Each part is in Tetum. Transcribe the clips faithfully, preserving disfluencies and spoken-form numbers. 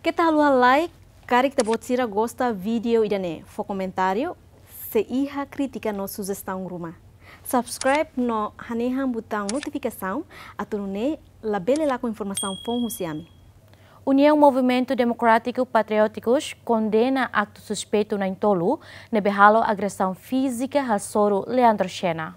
Keta haluha like, karik ita-boot sira gosta vídeo ida-ne'e, fó komentáriu, se iha krítika no sujestaun ruma. Subscribe no hanehan butaun notifikasaun, atu nune'e labele lakon informasaun foun husi ami. Uniaun Movimentu Demokrátiku Patriótikus kondena aktu suspeitu na'in-tolu ne'ebé halo agresaun fízika hasoru Leandro Xena.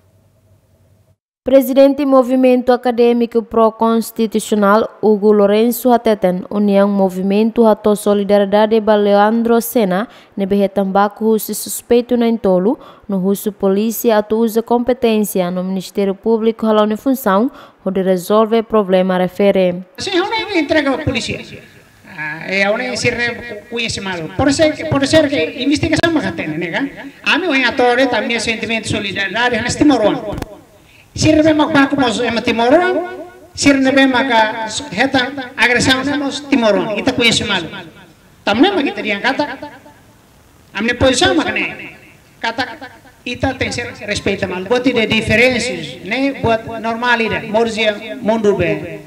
Prezidente Movimentu Akadémiku Pró-Konstitusionál, Hugo Lourenço, hateten Uniaun Movimentu hato'o solidariedade ba Leandro Xena, ne'ebé hetan baku husi suspeitu na'in-tolu, no husu polísia atu uza kompeténsia no Ministériu Públiku hala'o nia funsaun hodi rezolve problema refere. Sin, ha'u ne'e entrega ba polísia. Ah, e ha'u ne'e sira ne'e koñese malu. Pode ser, pode ser ke investigasaun mak hatene, ne'e ka? Ami ohin hato'o de'it ami-nia sentimentu solidariedade hanesan timoroan. Sira ne'ebé mak baku mós ema timoroan, sira ne'ebé maka hetan agresaun ne'e mós timoroan. Ita koñese malu. Tanba ne'e mak ita dehan katak, ami-nia pozisaun mak ne'e. Katak ita tenke ser respeita malu. Buat ida diferensa ne'e buat normál ida. Moris iha mundu be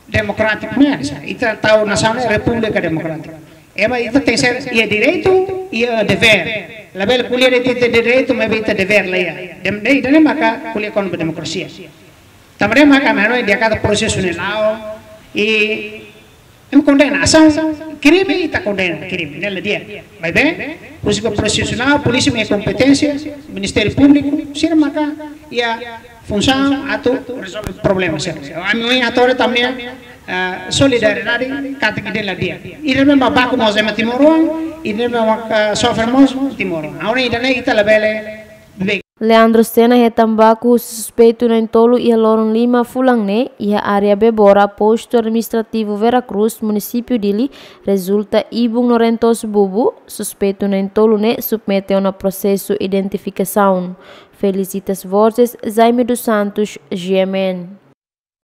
demokrátiku ne'e, ita tau nasaun ne'e repúblika demokrátika. Ema, ita tenke ser iha direitu, iha devér. Labele ko'alia de'it ita direitu, maibé ita devér la iha. Dem-, ne'e, ida-ne'e maka ko'alia kona-ba demokrasia. Tanba ne'e maka ami hanoin dehan katak prosesu ne'e la'o, i ema kondena, asaun krime ita kondena, krime ne'e la di'ak. Maibé, husi ke prosesu ne'e, polísia mak iha kompeténsia, Ministériu Públiku, sira maka iha funsaun atu rezolve problema sira. Ami ohin hato'o de'it ami-nia, ah, solidariedade katak ida-ne'e la di'ak. Ida ne'ebé mak baku mós ema timoroan, ida ne'ebé mak, ah, sofre mós timoroan. Agora ida-ne'e ita labele be- Leandro Xena hetan baku husi suspeitu na'in-tolu iha loron lima fulan ne'e, iha área Bebora, Postu Administrativu Vera Cruz, Munisípiu Dili, rezulta ibun no rentozu bubu. Suspeitu na'in-tolu ne'e submete ona prosesu identifikasaun. Felicitas Borges, Jaime dos Santos, G M N.